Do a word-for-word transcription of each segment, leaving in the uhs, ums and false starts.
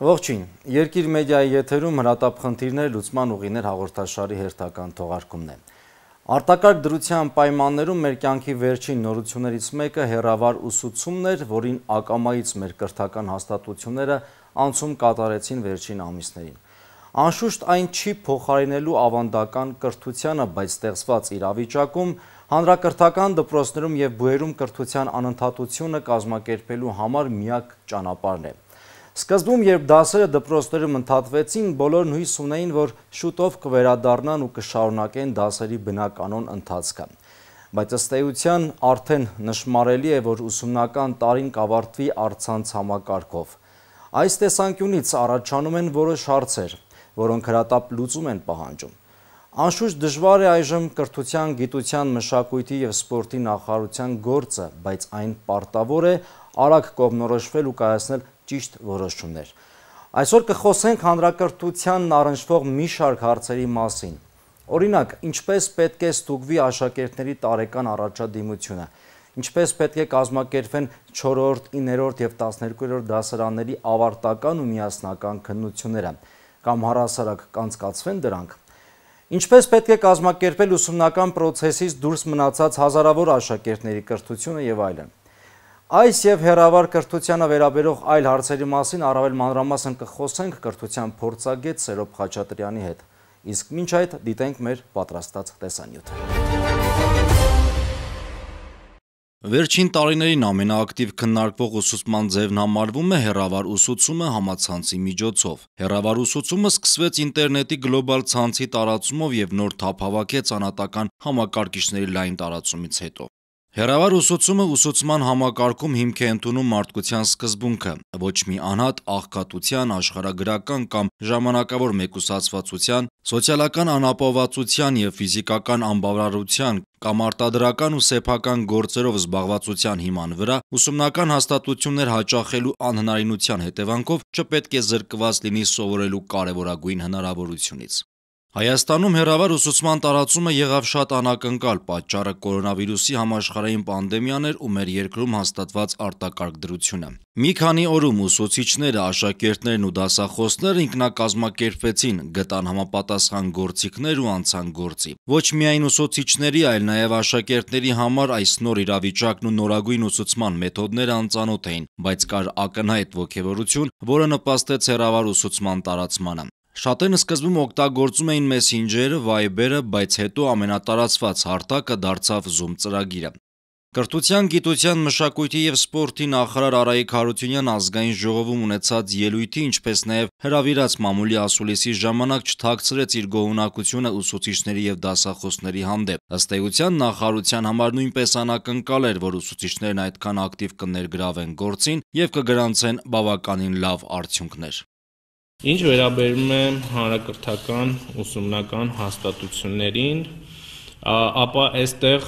Ողջույն, Երկիր մեդիայի եթերում հրատապ խնդիրներ լուծման ուղիներ հաղորդաշարի հերթական թողարկումն է։ Արտակարգ դրության պայմաններում մեր կյանքի վերջին նորություններից մեկը հեռավար ուսուցումն էր, որին ակամայից մեր կրթական հաստատությունները անցում կատարեցին վերջին ամիսներին։ Անշուշտ այն չի փոխարինելու ավանդական կրթությանը, բայց ստեղծված իրավիճակում հանրակրթական դպրոցներում և բուհերում կրթության անընդհատությունը կազմակերպելու համար միակ ճանապարհն է։ Սկզբում, երբ դասերը դպրոցներում ընդհատվեցին, բոլորն հույս ունեին, որ շուտով կվերադառնան ու կշարունակեն դասերի բնականոն ընթացքը։ Բայց ըստ էության արդեն նշմարելի է, որ ուսումնական տարին կավարտվի առցանց համակարգով։ Այս տեսանկյունից առաջանում են որոշ հարցեր, որոնք հրատապ լուծում են պահանջում։ Անշուշտ դժվար է այժմ կրթության, գիտության, մշակույթի և սպորտի նախարարության գործը, բայց այն պարտավոր է արագ կողմնորոշվել ու կայացնել ճիշտ որոշումներ։ Այսօր կխոսենք հանրակրթությանն առնչվող մի շարք հարցերի մասին։ Օրինակ, ինչպես պետք է ստուգվի աշակերտների տարեկան առաջադիմությունը, ինչպես պետք է կազմակերպվեն չորրորդ, իններորդ և տասներկուերորդ դասարանների ավարտական ու միասնական քննությունները, կամ առհասարակ կանցկացվեն դրանք։ Ինչպես պետք է կազմակերպել ուսումնական պրոցեսից դուրս մնացած հազարավոր աշակերտների կրթությունը և այլն։ Այս և հեռավար կրթությանը վերաբերող այլ հարցերի մասին առավել մանրամասն կխոսենք կրթության փորձագետ Սերոբ Խաչատրյանի հետ։ Իսկ մինչ այդ դիտենք մեր պատրաստած տեսանյութը։ Վերջին տարիներին ամենաակտիվ քննարկվող ուսուցման ձևն համարվում է հեռավար ուսուցումը համացանցի միջոցով։ Հեռավար ուսուցումը սկսվեց ինտերնետի գլոբալ ցանցի տարածումով և նոր թափ հավաքեց անհատական համակարգիչների լայն տարածումից հետո։ Հեռավար ուսուցումը ուսուցման համակարգում հիմք է ընդունում մարդկության սկզբունքը՝ ոչ մի անհատ աղքատության, աշխարհագրական կամ ժամանակավոր մեկուսացվածության, սոցիալական անապահովվածության և ֆիզիկական անբավարարության կամ արտադրական ու սեփական գործերով զբաղվածության հիման վրա ուսումնական հաստատություններ հաճախելու անհնարինության հետևանքով չպետք է զրկված լինի սովորելու կարևորագույն հնարավորությունից։ Հայաստանում հեռավար ուսուցման տարածումը եղավ շատ անակնկալ, պատճառը կորոնավիրուսի համաշխարհային պանդեմիան էր ու մեր երկրում հաստատված արտակարգ դրությունը։ Մի քանի օրում ուսուցիչները, աշակերտներն ու դասախոսները ինքնակազմակերպվեցին, գտան համապատասխան գործիքներ ու անցան գործի։ Ոչ միայն ուսուցիչների, այլ նաև աշակերտների համար այս նոր իրավիճակն ու նորագույն ուսուցման մեթոդները անծանոթ էին, բայց կար ակնհայտ ոգևորություն, որը նպաստեց հեռավար ուսուցման տարածմանը։ Շատերն սկզբում օգտագործում էին Messenger-ը, Viber-ը, բայց հետո ամենատարածված հարթակը դարձավ Zoom ծրագիրը։ Կրթության, գիտության, մշակույթի և սպորտի նախարար Արայիկ Հարությունյանն ազգային ժողովում ունեցած ելույթի, ինչպես նաև հրավիրած մամուլի ասուլիսի ժամանակ չթաքցրեց իր գոհունակությունը ուսուցիչների և դասախոսների հանդեպ։ Ըստ էության նախարարության համար նույնպես անակնկալ էր, որ ուսուցիչներն այդքան ակտիվ կներգրավեն գործին և կգրանցեն բավականին լավ արդյունքներ։ Ինչ վերաբերում է հանրակրթական ուսումնական հաստատություններին, ապա այստեղ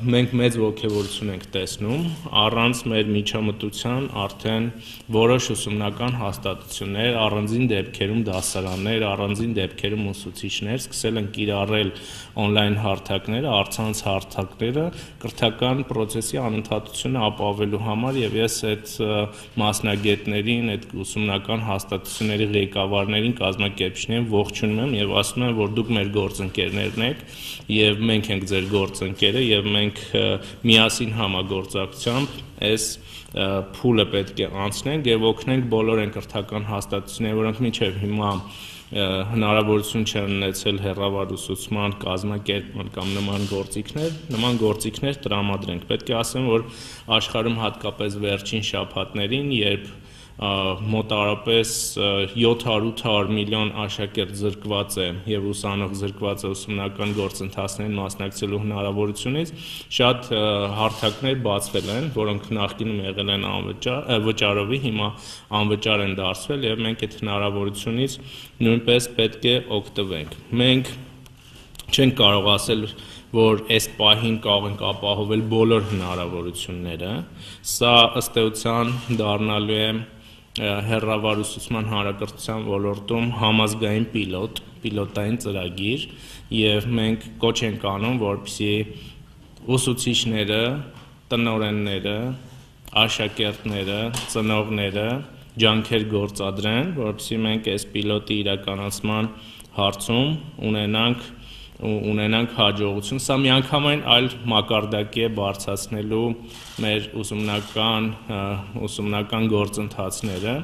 մենք մեծ ոգևորություն ենք տեսնում, առանց մեր միջամտության արդեն որոշ ուսումնական հաստատություններ, առանձին դեպքերում դասարաններ, առանձին դեպքերում ուսուցիչներ սկսել են կիրառել on-line հարթակները, առցանց հարթակները կրթական պրոցեսի անընդհատությունը ապահովելու համար, եւ ես այդ մասնագետներին, այդ ուսումնական հաստատությունների ղեկավարներին, կազմակերպիչներին ողջունում եմ եւ ասում եմ, որ դուք մեր գործընկերներն եք եւ մենք ենք ձեր գործընկերը եւ մենք միասին համագործակցությամբ այս փուլը պետք է անցնենք եւ օգնենք բոլոր այն կրթական հաստատություններին, որոնք մինչեւ հիմա հնարավորություն չեն ունեցել հեռավար ուսուցման կազմակերպման կամ նման գործիքներ, նման գործիքներ տրամադրենք։ Պետք է ասեմ, որ աշխարհում հատկապես վերջին շաբաթներին, երբ մոտարապես յոթ հարյուր ութ հարյուր միլիոն աշակերտ զրկված է եւ ուսանող զրկված է ուսումնական գործընթացներին մասնակցելու հնարավորությունից, շատ հարթակներ բացվել են, որոնք նախկինում եղել են անվճար, վճարովի, հիմա անվճար են դարձվել եւ մենք այդ հնարավորությունից նույնպես պետք է օգտվենք։ Մենք չենք կարող ասել, որ այս պահին կարող ենք ապահովել բոլոր հնարավորությունները, սա ըստ էության դառնալու է հեռավար ուսուցման հանրակրթության ոլորտում համազգային պիլոտ, պիլոտային ծրագիր, եւ մենք կոչ ենք անում, որպեսզի ուսուցիչները, տնօրենները, աշակերտները, ծնողները ջանքեր գործադրեն, որովհետեւ մենք այս պիլոտի իրականացման հարցում ունենանք ունենանք հաջողություն։ Սա միանգամայն այլ մակարդակի է բարձրացնելու մեր ուսումնական ուսումնական գործընթացները։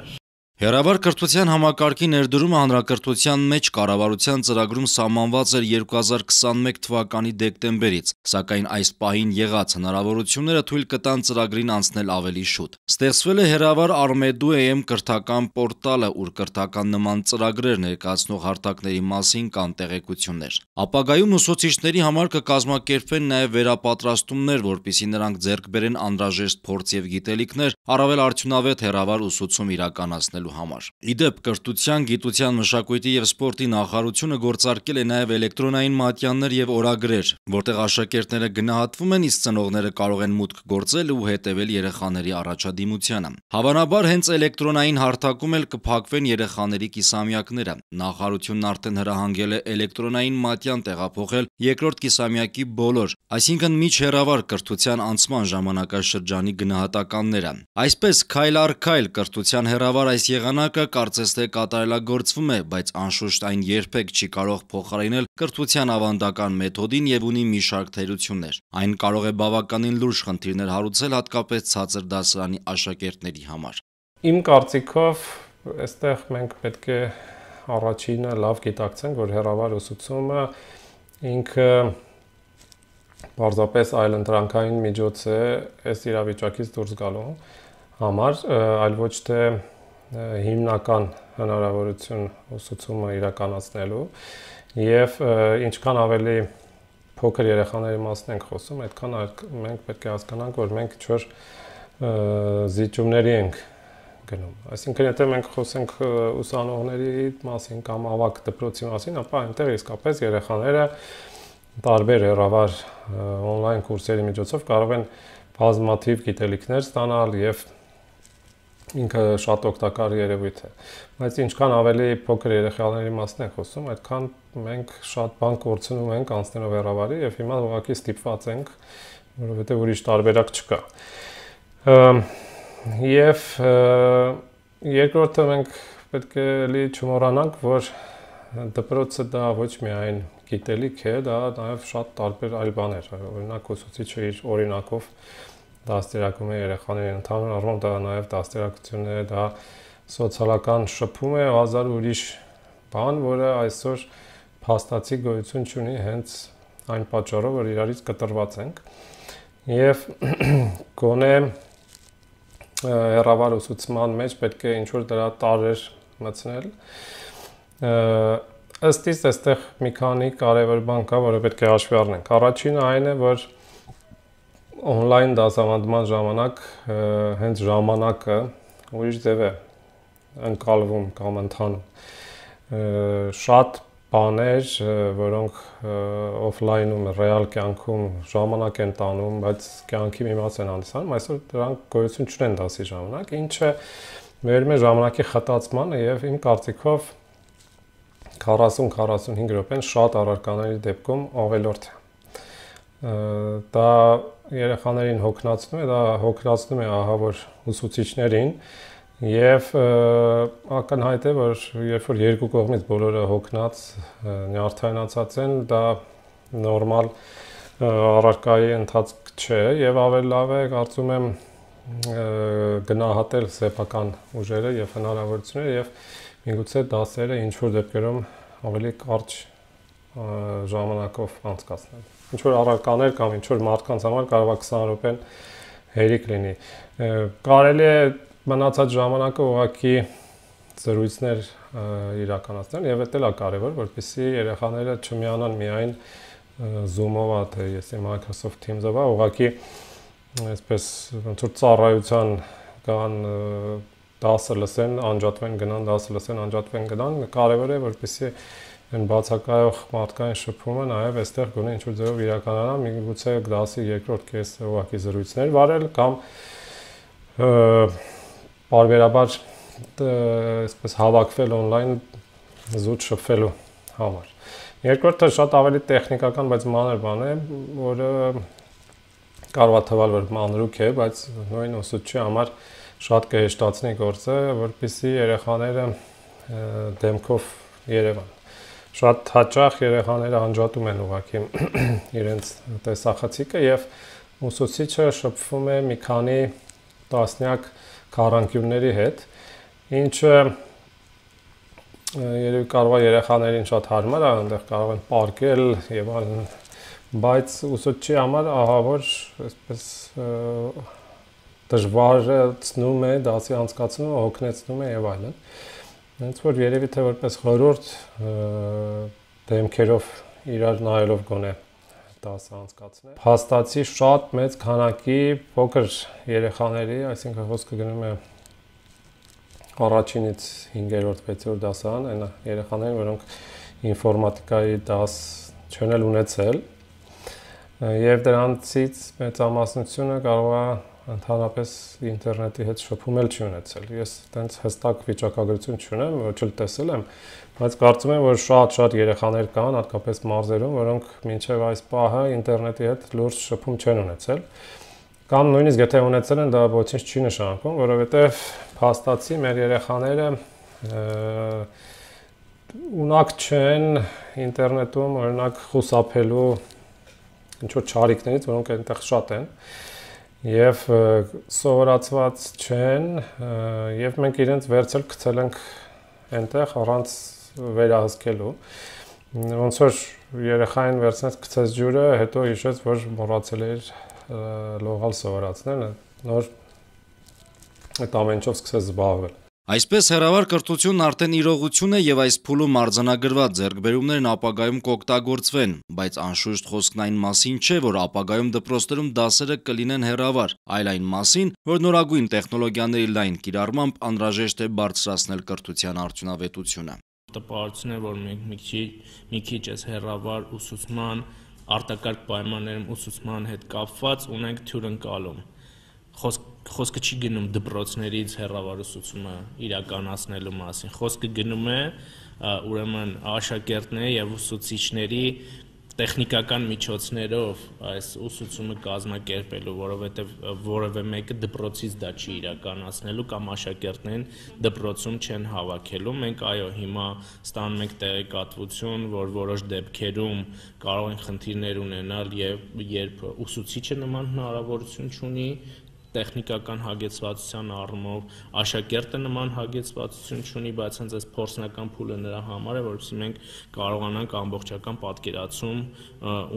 Հեռավար կրթության համակարգի ներդրումը հանրակրթության մեջ կառավարության ծրագրում սահմանված էր երկու հազար քսանմեկ թվականի դեկտեմբերից, սակայն այս պահին եղած հնարավորությունները թույլ կտան ծրագրին անցնել ավելի շուտ։ Ստեղծվել է Հեռավար Armedu.am կրթական պորտալը, ուր կրթական նման ծրագրեր ներկայացնող հարթակների մասին կան տեղեկություններ։ Ապագայում ուսուցիչների համար կկազմակերպվեն նաև վերապատրաստումներ, որպեսզի նրանք ձեռք բերեն անհրաժեշտ փորձ եւ գիտելիքներ առավել արդյունավետ հեռավար ուսուցում իրականացնելու համար։ Իդեպ, կրթության, գիտության, մշակույթի եւ սպորտի նախարարությունը գործարկել է նաև էլեկտրոնային մատյաններ եւ օրագրեր, որտեղ աշակերտները գնահատվում են, իսկ ծնողները կարող են մուտք գործել ու հետևել երեխաների առաջադիմությանը։ Հավանաբար հենց էլեկտրոնային հարթակում էլ կփակվեն երեխաների կիսամյակները։ Նախարարությունն արդեն հրահանգել է էլեկտրոնային մատյան տեղափոխել երկրորդ կիսամյակի բոլոր, այսինքն միջհեռավար կրթության անցման ժամանակաշրջանի գնահատականները։ Այսպես, քայլ առ քայլ կրթության հեռավար այս եղանակը կարծես թե կատարելագործվում է, բայց անշուշտ այն երբեք չի կարող փոխարինել կրթության ավանդական մեթոդին եւ ունի մի շարք թերություններ։ Այն կարող է բավականին լուրջ խնդիրներ հարուցել հատկապես ցածր դասարանի աշակերտների համար։ Իմ կարծիքով, այստեղ մենք պետք է առաջինը լավ գիտակցենք, որ հեռավար ուսուցումը ինքը պարզապես այլընտրանքային միջոց է այս իրավիճակից դուրս գալու համար, այլ ոչ թե հիմնական հնարավորություն ուսուցումը իրականացնելու, եւ ինչքան ավելի փոքր երեխաների մասն ենք խոսում, այդքան մենք պետք է հասկանանք, որ մենք ինչ-որ զիջումների ենք գնում։ Այսինքն, եթե մենք խոսենք ուսանողների մասին կամ ավագ դպրոցի մասին, ապա այնտեղ իսկապես երեխաները տարբեր հեռավար on-line կուրսերի միջոցով կարող են բազմաթիվ գիտելիքներ ստանալ եւ ինքը շատ օգտակար երևույթ է։ Բայց ինչքան ավելի փոքր երեխաների մասն ենք խոսում, այդքան մենք շատ բան կորցնում ենք անցնելով հեռավարի եւ հիմա ուղղակի ստիպված ենք, որովհետեւ ուրիշ տարբերակ չկա։ Եվ երկրորդը մենք պետք է լի չմոռանանք, որ դպրոցը դա ոչ միայն գիտելիք է, դա նաև շատ տարբեր այլ բաներ։ Օրինակ, ուսուցիչը իր օրինակով դաստիարակում է երեխաներին, ընդհանուր առմամբ դա նաև դաստիարակությունն է, դա սոցիալական շփում է, հազար ուրիշ բան, որը այսօր փաստացի գոյություն չունի հենց այն պատճառով, որ իրարից կտրված ենք։ Եվ գոնե հեռավար ուսուցման մեջ պետք է ինչ-որ դրա տարրեր մտցնել։ Ըստ իս այստեղ մի քանի կարևոր բան կա, որը պետք է հաշվի առնենք։ Առաջինը այն է, որ on-line դասավանդման ժամանակ հենց ժամանակը ուրիշ ձև է ընկալվում կամ ընթանում։ Շատ բաներ, որոնք օֆլայնում, ռեալ կյանքում ժամանակ են տանում, բայց կյանքի մի մաս են հանդիսանում, այսօր դրանք գոյություն չունեն դասի ժամանակ, ինչը վերում է ժամանակի խտացմանը եւ իմ կարծիքով քառասուն-քառասունհինգ րոպեն շատ առարկաների դեպքում ավելորդ է։ Դա երեխաներին հոգնածնում է, դա հոգնածնում է ահա որ ուսուցիչներին եւ ակնհայտ է, որ երբ որ երկու կողմից բոլորը հոգնած, նյարդայնացած են, դա նորմալ առարկայի ընթացք չէ եւ ավելի լավ է, կարծում եմ, գնահատել սեփական ուժերը եւ հնարավորությունները եւ միգուցե դասերը ինչ-որ դեպքերում ավելի կարճ ժամանակով անցկացնել։ Ինչ-որ առարկաներ կամ ինչ-որ մարդկանց համար կարող է քսան րոպեն հերիք լինի։ Կարելի է մնացած ժամանակը ուղղակի զրույցներ իրականացնել եւ դա էլ է կարեւոր, որպեսզի երեխաները չմիանան միայն Zoom-ով, թե եսի Microsoft Teams-ով, ուղղակի այսպես ոնց որ ծառայության կան դասը լսեն, անջատվեն գնան, դասը լսեն, անջատվեն գնան, կարևոր է, որպեսզի այն բացակայող մարդկային շփումը նաև այստեղ գոնե ինչ-որ ձևով իրականանա, միգուցե դասի երկրորդ կեսը ուղղակի զրույցներ վարել կամ բարբերաբար այսպես հավաքվել on-line զուտ շփվելու համար։ Երկրորդը շատ ավելի տեխնիկական, բայց մանր բան է, որը կարող է թվալ, որ մանրուք է, բայց նույն ուսուցչի համար շատ կհեշտացնի գործը, որպեսզի երեխաները դեմքով Երևան։ Շատ հաճախ երեխաները անջատում են ուղղակի իրենց տեսախցիկը եւ ուսուցիչը շփվում է մի քանի տասնյակ քառանկյունների հետ, ինչը երևի կարող է երեխաներին շատ հարմար է, այնտեղ կարող են պարկել եւ այլն, բայց ուսուցչի համար ահա որ այսպես դժվարացնում է դասի անցկացումը, հոգնեցնում է եւ այլն։ Հենց որ երևի թե որպես խորհուրդ դեմքերով իրար նայելով գոնե դասը անցկացնել։ Փաստացի շատ մեծ քանակի փոքր երեխաների, այսինքն խոսքը գնում է առաջինից հինգերորդ, վեցերորդ դասարան, այն երեխաներին, որոնք ինֆորմատիկայի դաս չեն էլ ունեցել, եւ դրանցից մեծամասնությունը կարող է ընդհանրապես ինտերնետի հետ շփում էլ չի ունեցել։ Ես տենց հստակ վիճակագրություն չունեմ, ոչ էլ տեսել եմ, բայց կարծում եմ, որ շատ-շատ երեխաներ կան, հատկապես մարզերում, որոնք մինչև այս պահը ինտերնետի հետ լուրջ շփում չեն ունեցել։ Կամ նույնիսկ եթե ունեցել են, դա ոչինչ չի նշանակում, որովհետև փաստացի մեր երեխաները ունակ չեն ինտերնետում, օրինակ, խուսափելու ինչ-որ չարիքներից, որոնք այնտեղ շատ են, եւ սովորացված չեն, եւ մենք իրենց վերցել գցել ենք այնտեղ առանց վերահսկելու։ Ոնց որ երեխային վերցնես գցես ջուրը, հետո հիշեց, որ մոռացել էր լողալ սովորացնել, նոր այդ ամեն ինչով սկսեց զբաղվել։ Այսպես հեռավար կրթությունն արդեն իրողություն է եւ այս փուլում արձանագրված ձեռքբերումներն ապագայում կօգտագործվեն, բայց անշուշտ խոսքն այն մասին չէ, որ ապագայում դպրոցներում դասերը կլինեն հեռավար, այլ այն մասին, որ նորագույն տեխնոլոգիաների լայն կիրառմամբ անհրաժեշտ է բարձրացնել կրթության արդյունավետությունը։ Տպավորություն է, որ մենք մի քիչ մի քիչ այս հեռավար ուսուցման արտակարգ պայմաններում ուսուցման հետ կապված ունենք թյուրընկալում։ Խոսք խոսքը չի գնում դպրոցներից հեռավար ուսուցումը իրականացնելու մասին, խոսքը գնում է ուրեմն աշակերտների եւ ուսուցիչների տեխնիկական միջոցներով այս ուսուցումը կազմակերպելու, որովհետեւ որևէ մեկը դպրոցից դա չի իրականացնելու կամ աշակերտներին դպրոցում չեն հավաքելու։ Մենք այո, հիմա ստանում ենք տեղեկատվություն, որ որոշ դեպքերում կարող են խնդիրներ ունենալ եւ երբ ուսուցիչը նման հնարավորություն չունի տեխնիկական հագեցվածության առումով, աշակերտը նման հագեցվածություն չունի, բայց հենց այս փորձնական փուլը նրա համար է, որովհետեւ մենք կարողանանք ամբողջական պատկերացում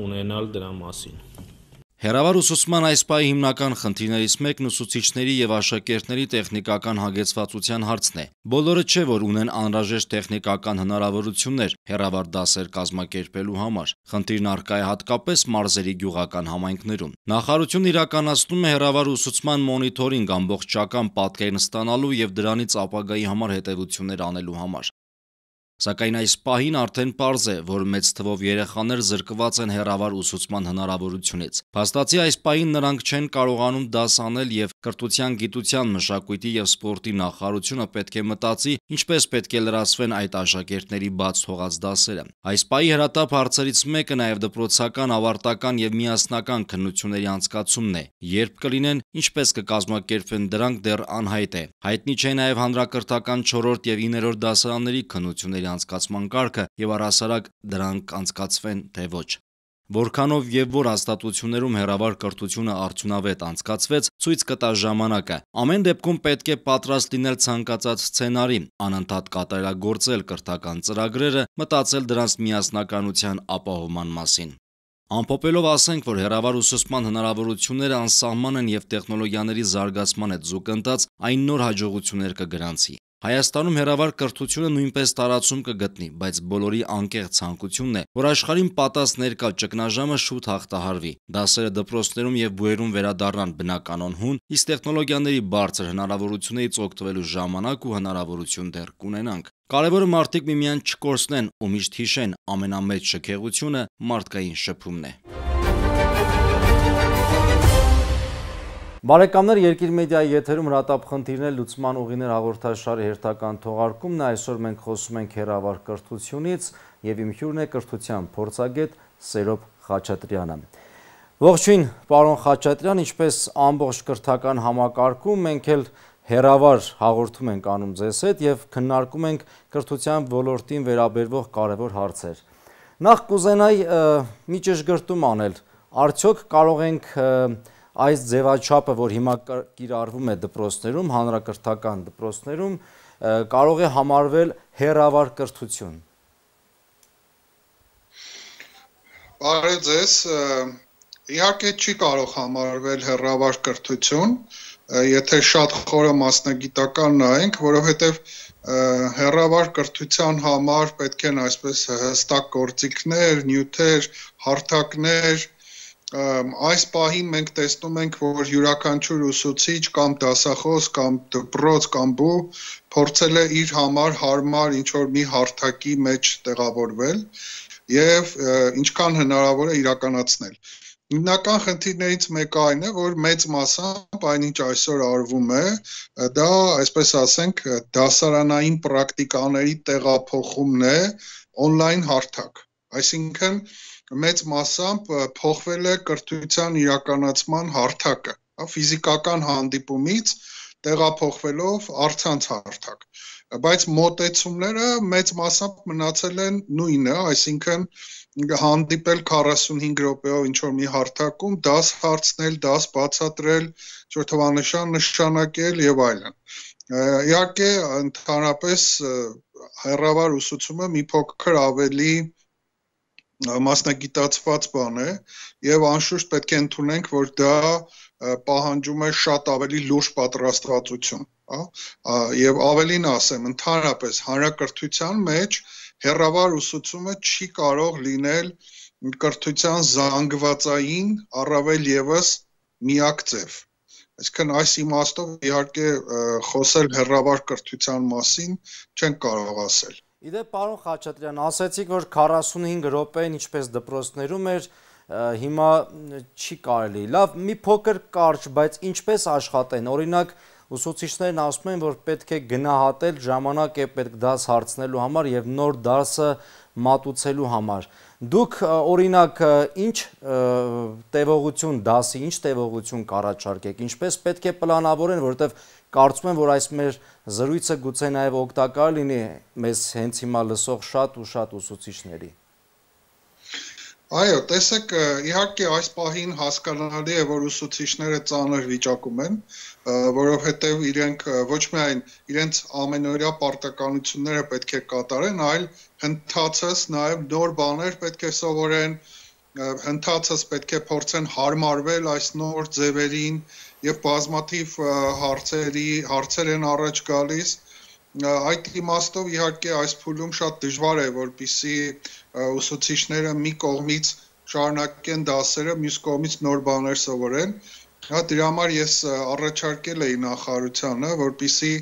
ունենալ դրա մասին։ Հեռավար ուսուցման այս պահի հիմնական խնդիրներից մեկն ուսուցիչների եւ աշակերտների տեխնիկական հագեցվածության հարցն է։ Բոլորը չէ, որ ունեն անհրաժեշտ տեխնիկական հնարավորություններ հեռավար դասեր կազմակերպելու համար։ Խնդիրն առկա է հատկապես մարզերի գյուղական համայնքներում։ Նախարարությունն իրականացնում է հեռավար ուսուցման մոնիթորինգ ամբողջական պատկերն ստանալու եւ դրանից ապագայի համար հետեւություններ անելու համար։ Սակայն այս պահին արդեն պարզ է, որ մեծ թվով երեխաներ զրկված են հեռավար ուսուցման հնարավորությունից։ Փաստացի այս պահին նրանք չեն կարողանում դաս անել եւ կրթության, գիտության, մշակույթի եւ սպորտի նախարարությունը պետք է մտածի, ինչպես պետք է լրացվեն այդ աշակերտների բաց թողած դասերը։ Այս պահի հրատապ հարցերից մեկը նաեւ դպրոցական, ավարտական եւ միասնական քննությունների անցկացումն է։ Երբ կլինեն, ինչպես կկազմակերպվեն դրանք դեռ անհայտ է։ Հայտնի չէ նաեւ հանրակրթական չորրորդ եւ իններորդ դասարանների քննությունների անցկացման կարգը եւ առհասարակ դրանք անցկացվեն թե ոչ։ Որքանով եւ որ հաստատություններում հեռավար կրթությունը արդյունավետ անցկացվեց, ցույց կտա ժամանակը։ Ամեն դեպքում պետք է պատրաստ լինել ցանկացած սցենարի, անընդհատ կատարելագործել կրթական ծրագրերը, մտածել դրանց միասնականության ապահովման մասին։ Ամփոփելով ասենք, որ հեռավար ուսուցման հնարավորությունները անսահման են եւ տեխնոլոգիաների զարգացման հետ զուգընթաց այն նոր հաջողություններ կգրանցի։ Հայաստանում հեռավար կրթությունը նույնպես տարածում կգտնի, բայց բոլորի անկեղծ ցանկությունն է, որ աշխարհին պատած ներկա ճգնաժամը շուտ հաղթահարվի, դասերը դպրոցներում եւ բուհերում վերադառնան բնականon հուն, իսկ տեխնոլոգիաների բարձր հնարավորություններից օգտվելու ժամանակ ու հնարավորություն դեռ կունենանք։ Կարևորը մարդիկ միմյանց չկորցնեն ու միշտ հիշեն, ամենամեծ շքեղությունը մարդկային շփումն է։ Բարեկամներ, Երկիր մեդիայի եթերում հրատապ խնդիրներ լուծման ուղիներ հաղորդաշարի հերթական թողարկումն է։ Այսօր մենք խոսում ենք հեռավար կրթությունից եւ իմ հյուրն է կրթության փորձագետ Սերոբ Խաչատրյանը։ Ողջույն, պարոն Խաչատրյան, ինչպես ամբողջ կրթական համակարգում, մենք էլ հեռավար հաղորդում ենք անում ձեզ հետ եւ քննարկում ենք կրթության ոլորտին վերաբերող կարևոր հարցեր։ Նախ կուզենայի մի ճշգրտում անել, արդյոք կարող ենք այս ձևաչափը, որ հիմա կիրառվում է դպրոցներում, հանրակրթական դպրոցներում, կարող է համարվել հեռավար կրթություն։ Բարև ձեզ, իհարկե չի կարող համարվել հեռավար կրթություն, եթե շատ խորը մասնագիտական նայենք, որովհետև հեռավար կրթության համար պետք են այսպես հստակ գործիքներ, նյութեր, հարթակներ, այս պահին մենք տեսնում ենք, որ յուրաքանչյուր ուսուցիչ կամ դասախոս կամ դպրոց կամ բու փորձել է իր համար հարմար ինչ-որ մի հարթակի մեջ տեղավորվել եւ ինչքան հնարավոր է իրականացնել։ Հիմնական խնդիրներից մեկը այն է, որ մեծ մասամբ այնինչ այսօր արվում է, դա, այսպես ասենք, դասարանային պրակտիկաների տեղափոխումն է on-line հարթակ։ Այսինքն մեծ մասամբ փոխվել է կրթության իրականացման հարթակը, ֆիզիկական հանդիպումից տեղափոխվելով առցանց հարթակ։ Բայց մոտեցումները մեծ մասամբ մնացել են նույնը, այսինքն հանդիպել քառասունհինգ րոպեով ինչ-որ մի հարթակում, դաս հարցնել, դաս բացատրել, ինչ-որ թվանշան նշանակել եւ այլն։ Իհարկե, ընդհանրապես հեռավար ուսուցումը մի փոքր ավելի մասնագիտացված բան է եւ անշուշտ պետք է ընդունենք, որ դա պահանջում է շատ ավելի լուրջ պատրաստվածություն, եւ ավելին ասեմ, ընդհանրապես հանրակրթության մեջ հեռավար ուսուցումը չի կարող լինել կրթության զանգվածային առավել եւս միակ ձև։ Այսինքն այս իմաստով իհարկե խոսել հեռավար կրթության մասին չենք կարող ասել։ Իդեպ, պարոն Խաչատրյան, ասացիք, որ քառասունհինգ րոպեն ինչպես դպրոցներում էր, հիմա չի կարելի։ Լավ, մի փոքր կարճ, բայց ինչպես աշխատեն, օրինակ ուսուցիչներն ասում են, որ պետք է գնահատել ժամանակ է պետք դաս հարցնելու համար եւ նոր դասը մատուցելու համար։ Դուք օրինակ ինչ տևողություն դասի, ինչ տևողություն կառաջարկեք, ինչպես պետք է պլանավորեն, որովհետեւ կարծում եմ, որ այս մեր զրույցը գուցե նաեւ օգտակար լինի մեզ հենց հիմա լսող շատ ու շատ ուսուցիչների։ Այո, տեսեք, իհարկե այս պահին հասկանալի է, որ ուսուցիչները ծանր վիճակում են, որովհետև իրենք ոչ միայն իրենց ամենօրյա պարտականությունները պետք է կատարեն, այլ հնդածս նաև նոր բաներ պետք է սովորեն, հնդածս պետք է փորձեն հարմարվել այս նոր ձևերին եւ բազմաթիվ հարցերի հարցեր են առաջ գալիս։ Այդ իմաստով իհարկե այս փուլում շատ դժվար է, որպեսզի ուսուցիչները մի կողմից շարունակեն դասերը, մյուս կողմից նոր բաներ սովորեն։ Հա դրա համար ես առաջարկել էի նախարարությանը, որպեսզի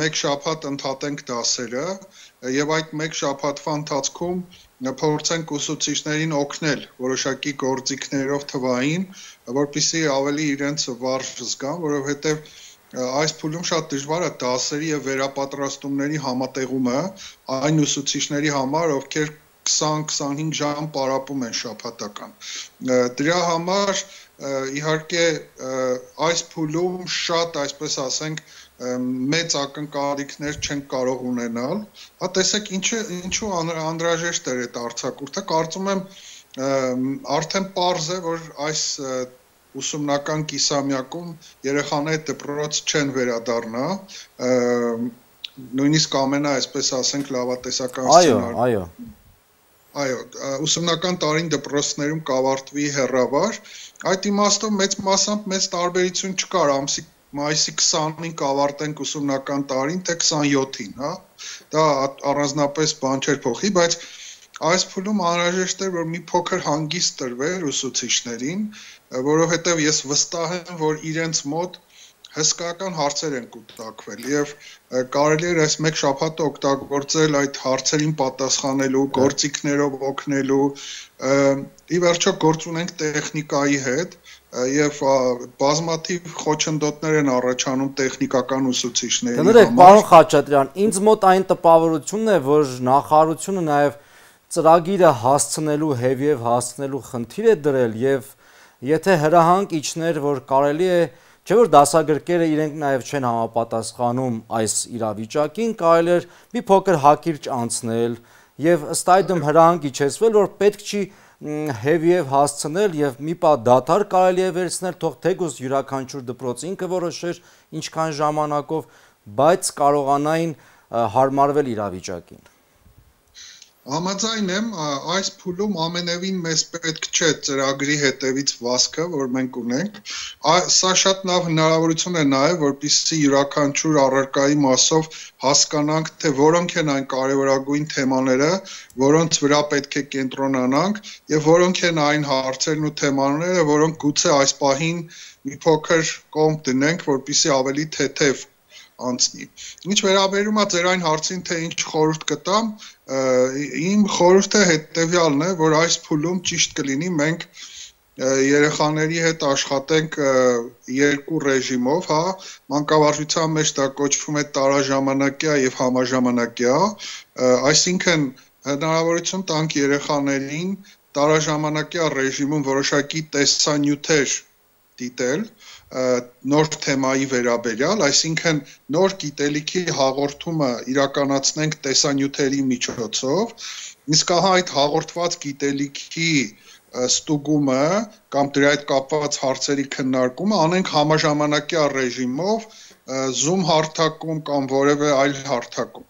մեկ շաբաթ ընդհատենք դասերը եւ այդ մեկ շաբաթվա ընթացքում փորձենք ուսուցիչներին օգնել որոշակի գործիքներով թվային, որպեսզի ավելի իրենց վարժ զգան, որովհետեւ այս փուլում շատ դժվար է դասերի եւ վերապատրաստումների համատեղումը այն ուսուցիչների համար, ովքեր քսան-քսանհինգ ժամ պարապում են շաբաթական։ Դրա համար իհարկե այս փուլում շատ, այսպես ասենք, մեծ ակնկալիքներ չեն կարող ունենալ։ Հա տեսեք, ինչը ինչու անհրաժեշտ էր այդ արձակուրդը, կարծում եմ արդեն պարզ է, որ այս ուսումնական կիսամյակում երեխաները դպրոց չեն վերադառնա, նույնիսկ ամենա, այսպես ասենք, լավատեսական սցենարը։ Այո, այո։ Այո, ուսումնական տարին դպրոցներում կավարտվի հեռավար, այդ իմաստով մեծ մասամբ մեծ տարբերություն չկար, ամսի մայիսի քսանին կավարտենք ուսումնական տարին, թե քսանյոթին, հա, դա առանձնապես բան չէր փոխի, բայց այս փուլում անհրաժեշտ էր, որ մի փոքր հանգիստ տրվեր ուսուցիչներին, որովհետև ես վստահ եմ, որ իրենց մոտ հսկայական հարցեր են կուտակվել եւ կարելի է այս մեկ շաբաթը օգտագործել այդ հարցերին պատասխանելու, գործիքներով օգնելու, ի վերջո գործ ունենք տեխնիկայի հետ եւ բազմաթիվ խոչընդոտներ են առաջանում տեխնիկական ուսուցիչների համար։ Կներեք, պարոն Խաչատրյան, ինձ մոտ այն տպավորությունն է, որ նախարարությունը նաեւ ծրագիրը հասցնելու, հետեւ հասցնելու խնդիր է դրել եւ եթե հրահանգ իջներ, որ կարելի է Չէ՞ որ դասագրքերը իրենք նաև չեն համապատասխանում այս իրավիճակին, կարելի էր մի փոքր հակիրճ անցնել եւ ըստ այդմ հրահանգ իջեցվել, որ պետք չի հեվիև հասցնել եւ մի պահ դադար կարելի է վերցնել, թող թեկուզ յուրաքանչյուր դպրոց ինքը որոշեր ինչքան ժամանակով, բայց կարողանային հարմարվել իրավիճակին։ Համաձայն եմ, այս փուլում ամենևին մեզ պետք չէ ծրագրի հետևից վազքը, որ մենք ունենք, սա շատ լավ հնարավորություն է նաև, որպեսզի յուրաքանչյուր առարկայի մասով հասկանանք, թե որոնք են այն կարևորագույն թեմաները, որոնց վրա պետք է կենտրոնանանք եւ որոնք են այն հարցերն ու թեմաները, որոնք գուցե այս պահին մի փոքր կողմ դնենք, որպեսզի ավելի թեթև անցնի։ Ինչ վերաբերում է ձեր այն հարցին, թե ինչ խորհուրդ կտամ, իմ խորհուրդը հետևյալն է, որ այս փուլում ճիշտ կլինի մենք երեխաների հետ աշխատենք երկու ռեժիմով, հա, մանկավարժության մեջ դա կոչվում է տարաժամանակյա եւ համաժամանակյա, այսինքն հնարավորություն տանք երեխաներին տարաժամանակյա ռեժիմում որոշակի տեսանյութեր դիտել նոր թեմայի վերաբերյալ, այսինքն նոր գիտելիքի հաղորդումը իրականացնենք տեսանյութերի միջոցով, իսկ ահա այդ հաղորդված գիտելիքի ստուգումը կամ դրա հետ կապված հարցերի քննարկումը անենք համաժամանակյա ռեժիմով, Zoom հարթակում կամ որևէ այլ հարթակում։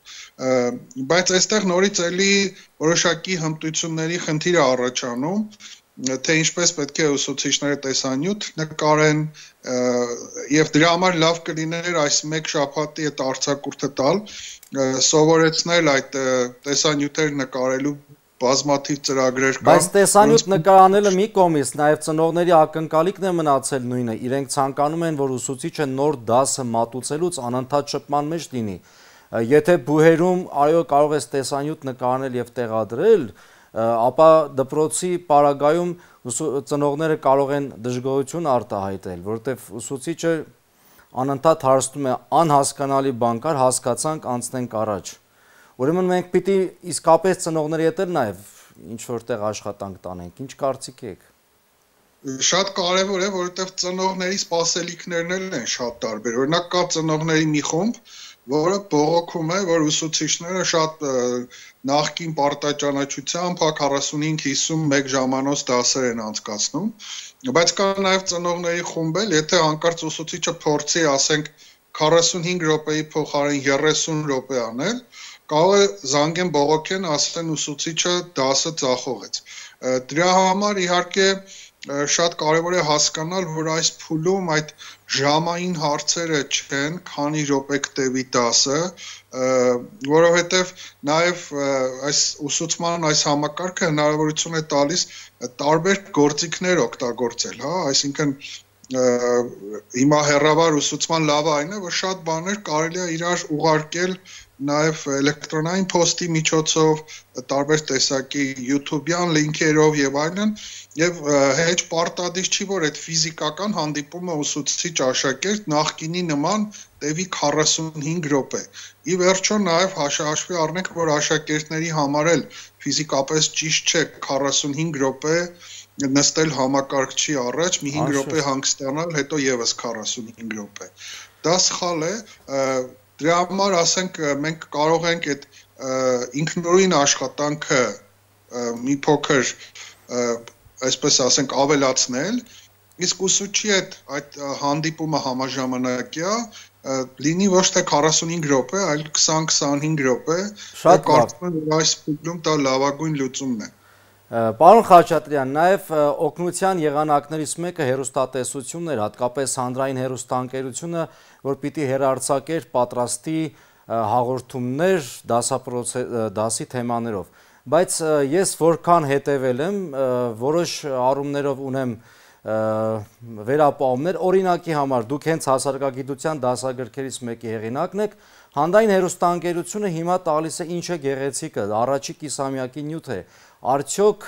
Բայց այստեղ նորից էլի որոշակի հմտությունների խնդիր է առաջանում, թե ինչպես պետք է ուսուցիչները տեսանյութ նկարեն եւ դրա համար լավ կլիներ այս մեկ շաբաթի այդ արձակուրդը տալ, սովորեցնել այդ տեսանյութեր նկարելու բազմաթիվ ծրագրեր կան։ Բայց տեսանյութ նկարանելը մի կողմից, նաև ծնողների ակնկալիքն է մնացել նույնը, իրենք ցանկանում են, որ ուսուցիչը նոր դասը մատուցելուց անընդհատ շփման մեջ լինի։ Եթե բուհերում այո կարող ես տեսանյութ նկարանել եւ տեղադրել, ապա դպրոցի պարագայում ծնողները կարող են դժգոհություն արտահայտել, որովհետև ուսուցիչը անընդհատ հարցնում է անհասկանալի բան կար, հասկացանք, անցնենք առաջ։ Ուրեմն մենք պիտի իսկապես ծնողների հետ էլ նաև ինչ-որ տեղ աշխատանք տանենք, ինչ կարծիք եք։ Շատ կարևոր է, որովհետև ծնողների սպասելիքներն են շատ տարբեր։ Օրինակ կա ծնողների մի խումբ, որը բողոքում է, որ ուսուցիչները շատ նախկին պարտաճանաչությամբ քառասունհինգ հիսունմեկ ժամանոց դասեր են անցկացնում, բայց կա նաև ծնողների խումբ էլ, եթե հանկարծ ուսուցիչը փորձի, ասենք, քառասունհինգ րոպեի փոխարեն երեսուն րոպե անել, կարող է զանգեն բողոքեն, ասեն ուսուցիչը դասը ձախողեց։ Դրա համար իհարկե շատ կարևոր է հասկանալ, որ այս փուլում այդ ժամային հարցերը չեն, քանի րոպե կտևի դասը, որովհետև նաև այս ուսուցման այս համակարգը հնարավորություն է տալիս տարբեր գործիքներ օգտագործել, հա, այսինքն հիմա հեռավար ուսուցման լավը այն է, որ շատ բաներ կարելի է իրար ուղարկել նաև էլեկտրոնային փոստի միջոցով, տարբեր տեսակի YouTube-յան լինքերով եւ այլն, եւ հեչ պարտադիր չի, որ այդ ֆիզիկական հանդիպումը ուսուցիչ աշակերտ նախկինի նման տևի քառասունհինգ րոպե։ Ի վերջո նաև հաշվի առնենք, որ աշակերտների համար էլ ֆիզիկապես ճիշտ չէ քառասունհինգ րոպե նստել համակարգչի առաջ, մի հինգ րոպե հանգստանալ, հետո եւս քառասունհինգ րոպե։ Դա սխալ է, դրա համար ասենք մենք կարող ենք այդ ինքնուրույն աշխատանքը մի փոքր, այսպես ասենք, ավելացնել, իսկ ուսուցչի հետ այդ հանդիպումը համաժամանակյա լինի ոչ թե քառասունհինգ րոպե, այլ քսան-քսանհինգ րոպե, կարծում եմ, որ այս փուլում դա լավագույն լուծումն է։ Պարոն Խաչատրյան, նաև օգնության եղանակներից մեկը հեռուստատեսությունն էր, հատկապես հանրային հեռուստաընկերությունը, որ պիտի հեռարձակեր պատրաստի հաղորդումներ դասի թեմաներով։ Բայց ես որքան հետևել եմ, որոշ առումներով ունեմ վերապահումներ, օրինակի համար դուք հենց հասարակագիտության դասագրքերից մեկի հեղինակն եք, հանրային հեռուստաընկերությունը հիմա տալիս է ինչ է գեղեցիկը, առաջի կիսամյակի նյութ է, արդյոք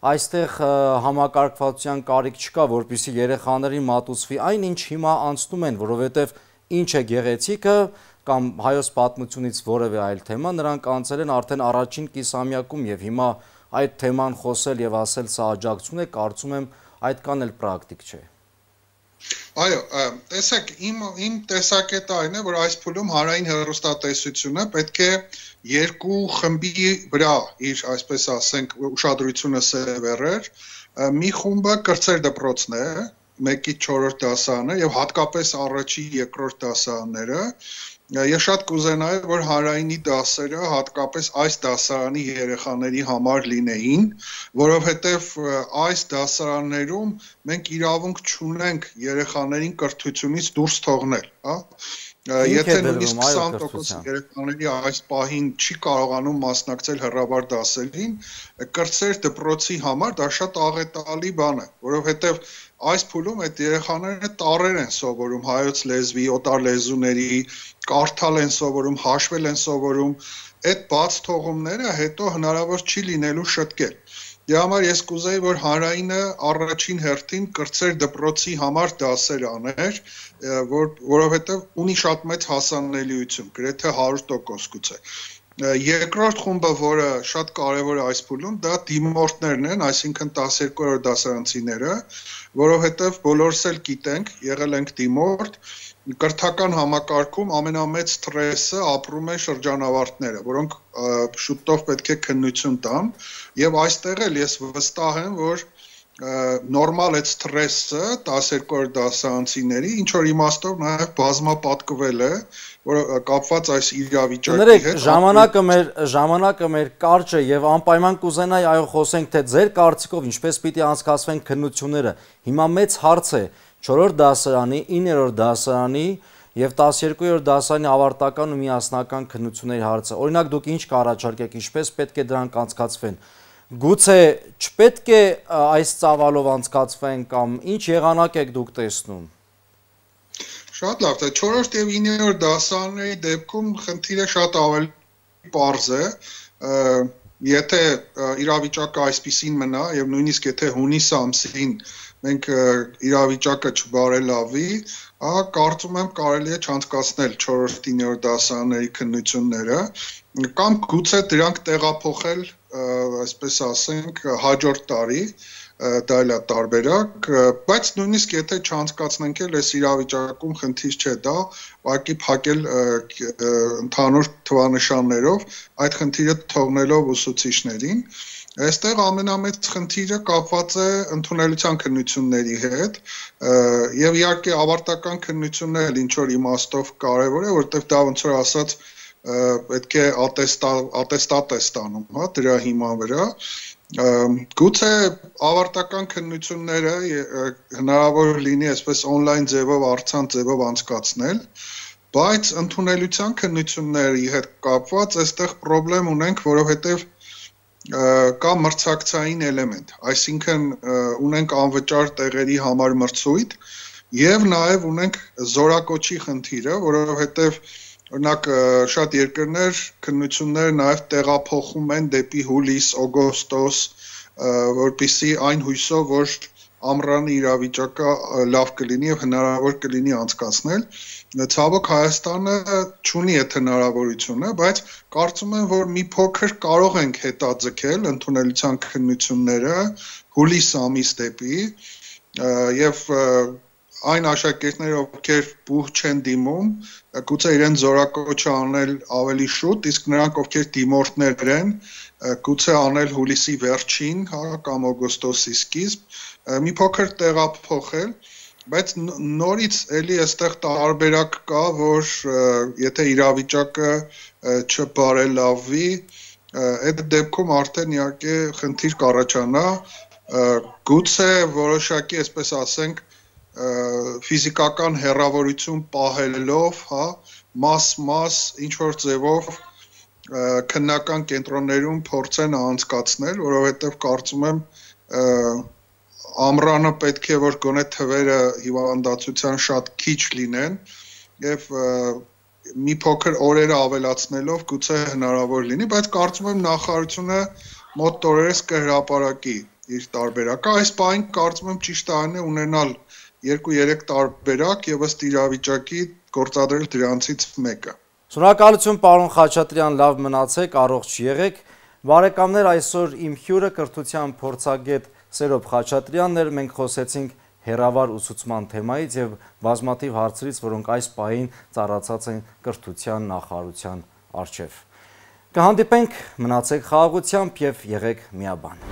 այստեղ համակարգվածության կարիք չկա, որպեսզի երեխաներին մատուցվի այն, ինչ հիմա անցնում են, որովհետև ինչ է գեղեցիկը կամ հայոց պատմությունից որևէ այլ թեմա, նրանք անցել են արդեն առաջին կիսամյակում եւ հիմա այդ թեման խոսել եւ ասել սա աջակցություն է, կարծում եմ այդքան էլ պրակտիկ չէ։ Այո, տեսեք, իմ իմ տեսակետը այն է, որ այս փուլում հանրային հեռուստատեսությունը պետք է երկու խմբի վրա իր, այսպես ասենք, ուշադրությունը սևեռեր։ Մի խումբը կրտսեր դպրոցն է, մեկից չորրորդ դասարանը եւ հատկապես առաջի երկրորդ դասարանները։ Ես շատ կուզենայի, որ հանրայինի դասերը հատկապես այս դասարանի երեխաների համար լինեին, որովհետև այս դասարաններում մենք իրավունք չունենք երեխաներին կրթությունից դուրս թողնել, հա? Եթե նույնիսկ քսան տոկոս երեխաների այս պահին չի կարողանում մասնակցել հեռավար դասերին, կրտսեր դպրոցի համար դա շատ աղետալի բան է, որովհետև այս փուլում այդ երեխաները տառեր են սովորում հայոց լեզվի, օտար լեզուների, կարդալ են սովորում, հաշվել են սովորում, այդ բաց թողումները հետո հնարավոր չի լինելու շտկել։ Դրա համար ես կուզեի, որ հանրայինը առաջին հերթին կրտսեր դպրոցի համար դասեր աներ, որ, որովհետև ունի շատ մեծ հասանելիություն, գրեթե հարյուր տոկոս գուցե։ Երկրորդ խումբը, որը շատ կարևոր է այս փուլում, դա դիմորդներն են, այսինքն տասներկուերորդ դասարանցիները, որովհետև բոլորս էլ գիտենք, եղել ենք դիմորդ, կրթական համակարգում ամենամեծ սթրեսը ապրում են շրջանավարտները, որոնք շուտով պետք է քննություն տան, եւ այստեղ էլ ես վստահ եմ, որ նորմալ այդ սթրեսը տասներկուերորդ դասարանցիների ինչ որ իմաստով նաև բազմապատկվել է, որ կապված այս իրավիճակի հետ։ Ժամանակը մեր ժամանակը մեր կարճ է եւ անպայման կուզենայի այո խոսենք թե ձեր կարծիքով ինչպես պիտի անցկացվեն քննությունները։ Հիմա մեծ հարց է չորրորդ դասարանի, իններորդ դասարանի եւ տասներկուերորդ դասարանի ավարտական ու միասնական քննությունների հարցը։ Օրինակ դուք ինչ կառաջարկեք, ինչպես պետք է դրանք անցկացվեն։ Գուցե չպետք է այս ծավալով անցկացվեն կամ ինչ եղանակ եք դուք տեսնում։ Շատ լավ, թե չորրորդ եւ իններորդ դասարանների դեպքում խնդիրը շատ ավելի պարզ է, եթե իրավիճակը այսպիսին մնա եւ նույնիսկ եթե հունիս ամսին մենք իրավիճակը չբարելավի, ահա կարծում եմ կարելի է չանցկացնել չորրորդ իններորդ դասարանների քննությունները կամ գուցե դրանք տեղափոխել, այսպես ասենք, հաջորդ տարի, դա էլ է տարբերակ, բայց նույնիսկ եթե չանցկացնենք էլ այս իրավիճակում խնդիր չէ դա, ուղղակի փակել ընդհանուր թվանշաններով, այդ խնդիրը թողնելով ուսուցիչներին։ Այստեղ ամենամեծ խնդիրը կապված է ընդունելության քննությունների հետ եւ իհարկե ավարտական քննությունները ինչ որ իմաստով կարեւոր է, որովհետեւ դա ոնց որ ասած պետք է ատեստատ է ստանում, հա, դրա հիման վրա։ Գուցե ավարտական քննությունները հնարավոր լինի այսպես on-line ձևով, առցանց ձևով անցկացնել, բայց ընդունելության քննությունների հետ կապված այստեղ խնդրեմ ունենք, որովհետեւ կա մրցակցային էլեմենտ, այսինքն ունենք անվճար տեղերի համար մրցույթ եւ նաեւ ունենք զորակոչի խնդիրը, որովհետեւ օրինակ շատ երկրներ քննությունները նաեւ տեղափոխում են դեպի հուլիս, օգոստոս, որպեսզի այն հույսով, որ ամռանը իրավիճակը լավ կլինի եւ հնարավոր կլինի անցկացնել։ Ցավոք Հայաստանը չունի այդ հնարավորությունը, բայց կարծում եմ, որ մի փոքր կարող ենք հետաձգել ընդունելության քննությունները հուլիս ամիս դեպի եւ այն աշակերտները, ովքեր բուհ չեն դիմում, գուցե իրեն զորակոչը անել ավելի շուտ, իսկ նրանք, ովքեր դիմորդներ են, գուցե անել հուլիսի վերջին, հա, կամ օգոստոսի սկիզբ, մի փոքր տեղափոխել, բայց նորից էլի այստեղ տարբերակ կա, որ եթե իրավիճակը չբարելավի, այդ դեպքում արդեն իհարկե խնդիր կառաջանա, գուցե որոշակի, այսպես ասենք, ֆիզիկական հեռավորություն պահելով, հա, մաս-մաս ինչ-որ ձևով քննական կենտրոններում փորձեն անցկացնել, որովհետև կարծում եմ ամռանը պետք է որ գոնե թվերը հիվանդացության շատ քիչ լինեն եւ մի փոքր օրերը ավելացնելով գուցե հնարավոր լինի, բայց կարծում եմ նախարարությունը մոտ օրերս կհրապարակի իր տարբերակը, այս բանը կարծում եմ ճիշտ այն է ունենալ երկու-երեք տարբերակ եւ ըստ իրավիճակի գործադրել դրանցից մեկը։ Շնորհակալություն պարոն Խաչատրյան, լավ մնացեք, առողջ եղեք։ Բարեկամներ, այսօր իմ հյուրը կրթության փորձագետ Սերոբ Խաչատրյանն էր, մենք խոսեցինք հերավար ուսուցման թեմայից եւ բազմաթիվ հարցերից, որոնք այս պահին ծառացած են կրթության նախարարության առջև։ Կհանդիպենք, մնացեք խաղաղությամբ եւ եղեք միաբան։